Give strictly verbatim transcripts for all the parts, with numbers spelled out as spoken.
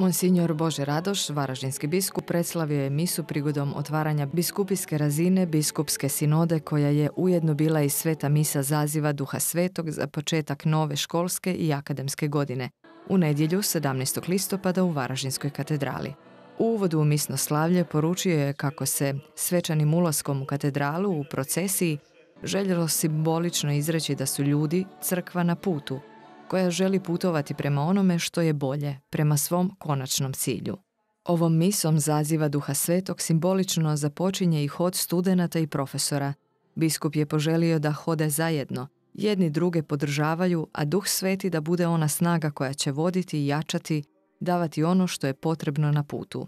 Monsignor Bože Radoš, varaždinski biskup, predslavio je misu prigodom otvaranja biskupijske razine biskupske sinode, koja je ujedno bila i sveta misa zaziva Duha Svetog za početak nove školske i akademske godine, u nedjelju sedamnaestog listopada u Varaždinskoj katedrali. U uvodu u misno slavlje poručio je kako se svečanim ulaskom u katedralu u procesiji željelo simbolično izreći da su ljudi crkva na putu, koja želi putovati prema onome što je bolje, prema svom konačnom cilju. Ovom misom zaziva Duha Svetog simbolično započinje i hod studenata i profesora. Biskup je poželio da hode zajedno, jedni druge podržavaju, a Duh Sveti da bude ona snaga koja će voditi i jačati, davati ono što je potrebno na putu.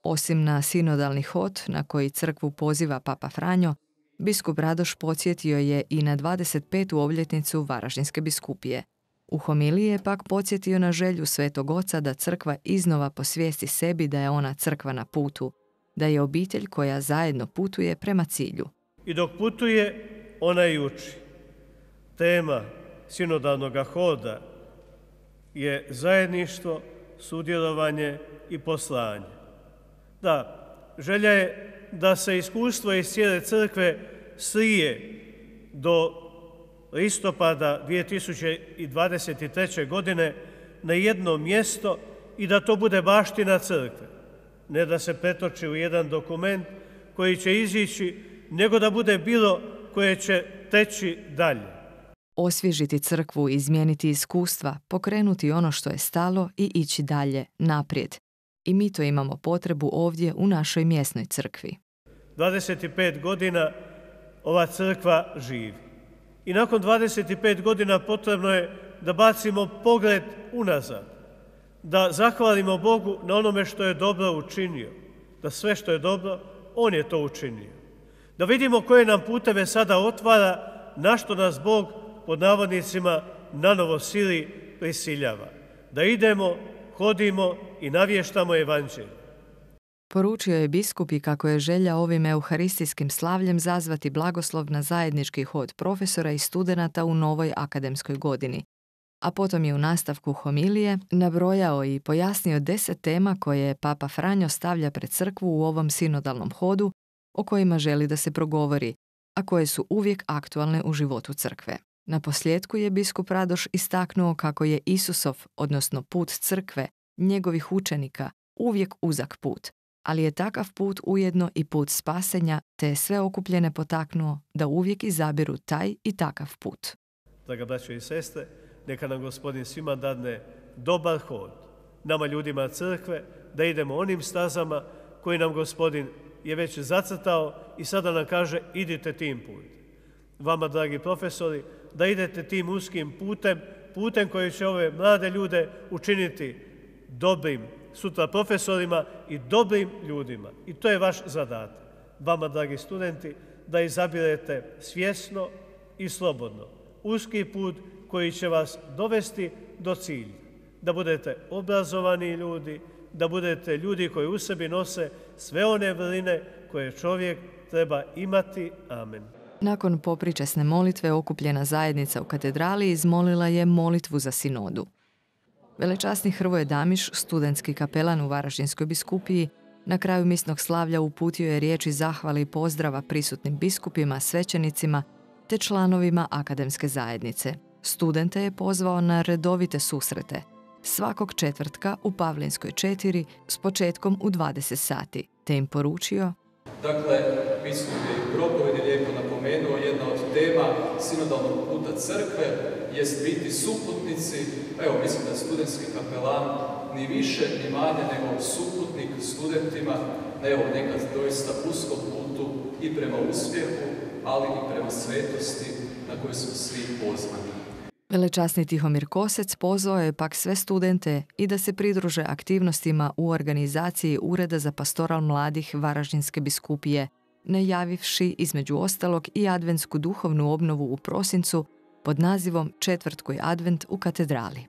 Osim na sinodalni hod na koji crkvu poziva Papa Franjo, biskup Radoš podsjetio je i na dvadeset petu obljetnicu Varaždinske biskupije. U homiliji je pak podsjetio na želju Svetog Oca da crkva iznova posvijesti sebi da je ona crkva na putu, da je obitelj koja zajedno putuje prema cilju. I dok putuje, ona i uči. Tema sinodalnog hoda je zajedništvo, sudjelovanje i poslanje. Da, želja je da se iskustvo iz cijele crkve slije do listopada dvije tisuće dvadeset treće. godine na jedno mjesto i da to bude baština crkve. Ne da se pretoči u jedan dokument koji će izići, nego da bude bilo koje će teći dalje. Osvježiti crkvu, izmijeniti iskustva, pokrenuti ono što je stalo i ići dalje, naprijed. I mi to imamo potrebu ovdje u našoj mjesnoj crkvi. dvadeset pet godina ova crkva živi. I nakon dvadeset pet godina potrebno je da bacimo pogled unazad, da zahvalimo Bogu na onome što je dobro učinio, da sve što je dobro, On je to učinio. Da vidimo koje nam puteve sada otvara, na što nas Bog, pod navodnicima, nanovo sili prisiljava. Da idemo, hodimo i navještamo evanđelje. Poručio je biskup i kako je želja ovim euharistijskim slavljem zazvati blagoslov na zajednički hod profesora i studenata u novoj akademskoj godini. A potom je u nastavku homilije nabrojao i pojasnio deset tema koje Papa Franjo stavlja pred crkvu u ovom sinodalnom hodu, o kojima želi da se progovori, a koje su uvijek aktualne u životu crkve. Na posljedku je biskup Radoš istaknuo kako je Isusov, odnosno put crkve, njegovih učenika, uvijek uzak put, ali je takav put ujedno i put spasenja, te je sve okupljene potaknuo da uvijek izabiru taj i takav put. Draga braćo i sestre, neka nam Gospodin svima dadne dobar hod, nama ljudima crkve, da idemo onim stazama koji nam Gospodin je već zacrtao i sada nam kaže idite tim putem. Vama, dragi profesori, da idete tim uskim putem, putem koji će ove mlade ljude učiniti dobrim sutra profesorima i dobrim ljudima. I to je vaš zadatak. Vama, dragi studenti, da izabirete svjesno i slobodno uski put koji će vas dovesti do cilja. Da budete obrazovani ljudi, da budete ljudi koji u sebi nose sve one vrline koje čovjek treba imati. Amen. Nakon popričesne molitve okupljena zajednica u katedrali izmolila je molitvu za sinodu. Velečasni Hrvoje Damiš, studentski kapelan u Varaždinskoj biskupiji, na kraju misnog slavlja uputio je riječi zahvale i pozdrava prisutnim biskupima, svećenicima te članovima akademske zajednice. Studente je pozvao na redovite susrete, svakog četvrtka u Pavlinskoj četiri s početkom u dvadeset sati, te im poručio: Dakle, biskup je propovedi lijepo napomenuo, jedna od tema sinodalnog puta crkve jest biti suputnici, evo mislim da je studentski kapelan ni više ni manje nego suputnik studentima, evo nekad doista uskom putu i prema uspjehu, ali i prema svetosti na koju smo svi pozvani. Velečasni Tihomir Kosec pozvao je pak sve studente i da se pridruže aktivnostima u organizaciji Ureda za pastoral mladih Varaždinske biskupije, najavivši između ostalog i adventsku duhovnu obnovu u prosincu pod nazivom Četvrtkoji advent u katedrali.